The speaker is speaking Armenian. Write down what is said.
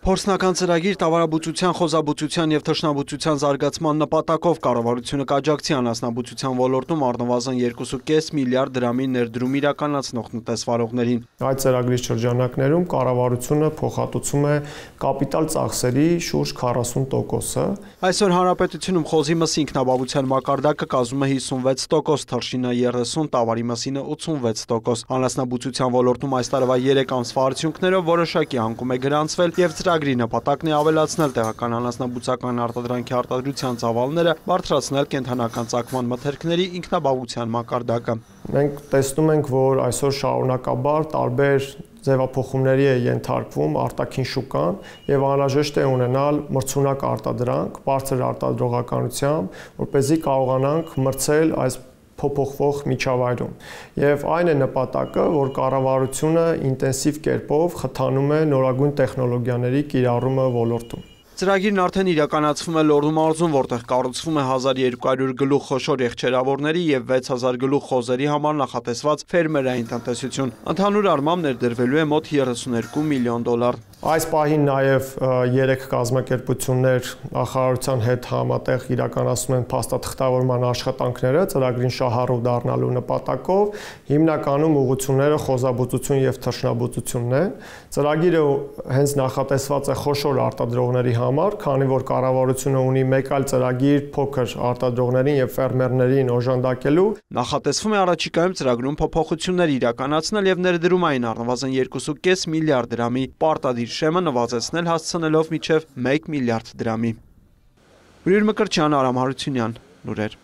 Փորձնական ծրագիր տավարաբուծության, խոզաբուծության եւ թռչնաբուծության զարգացման նպատակով կառավարությունը կաջակցի անասնաբուծության ոլորտում առնվազն 2.5 միլիարդ դրամի ներդրում իրականացնող տնտեսվարողներին։ Այդ ծրագրի շրջանակներում կառավարությունը փոխհատուցում է կապիտալ ծախսերի շուրջ 40%-ը։ Այսօր հանրապետությունում խոզի մսի ինքնաբավության մակարդակը կազմում է 56%, թռչինը 30%, տավարի մսինը 86%։ Անասնաբուծության ոլորտում այս տարվա 3 ամսվա արդյունքներով որոշակի անկում է գրանցվել եւ ծրագրի նպատակն է ավելացնել տեղական անասնաբուծական արտադրանքի արտադրության ծավալները, բարձրացնել կենդանական ծագման մթերքների ինքնաբավության մակարդակը։ Մենք տեսնում ենք, որ այսօր շարունակաբար տարբեր ձևափոխումների է ենթարկվում արտաքին շուկան եւ անհրաժեշտ է ունենալ մրցունակ արտադրանք, բարձր արտադրողականությամբ, որպեսզի կարողանանք մրցել այս փոփոխվող միջավայրում։ Եվ այն է նպատակը, որ կառավարությունը ինտենսիվ կերպով խթանում է նորագույն տեխնոլոգիաների կիրառումը ոլորտում։ Ծրագիրն արդեն իրականացվում է Լոռու մարզում, որտեղ կառուցվում է 1200 գլուխ խոշոր եղջերավորների եւ 6000 գլուխ խոզերի համար նախատեսված ֆերմերային տնտեսություն։ Ընդհանուր առմամբ ներդրվելու է մոտ 32 միլիոն դոլար։ Այս պահին նաև 3 կազմակերպություններ նախարարության հետ համատեղ իրականացնում են փաստաթղթավորման աշխատանքները ծրագրին շահառու դառնալու նպատակով, հիմնականում ուղղությունները խոզաբուծություն եւ թռչնաբուծությունն են։ Ծրագիրը հենց նախատեսված է խոշոր արտադրողների համար, քանի որ կառավարությունը ունի մեկ այլ ծրագիր փոքր արտադրողներին եւ ֆերմերներին օժանդակելու։ Նախատեսվում է առաջիկայում ծրագրում փոփոխություններ իրականացնել եւ ներդրումային առնվազն 2.5 միլիարդ դրամի պարտադիր շեմը նվազեցնել հասցնելով մինչև 1 միլիարդ դրամի։ Ուրիր Մկրտչյան, Արամ Հարությունյան, լուրեր։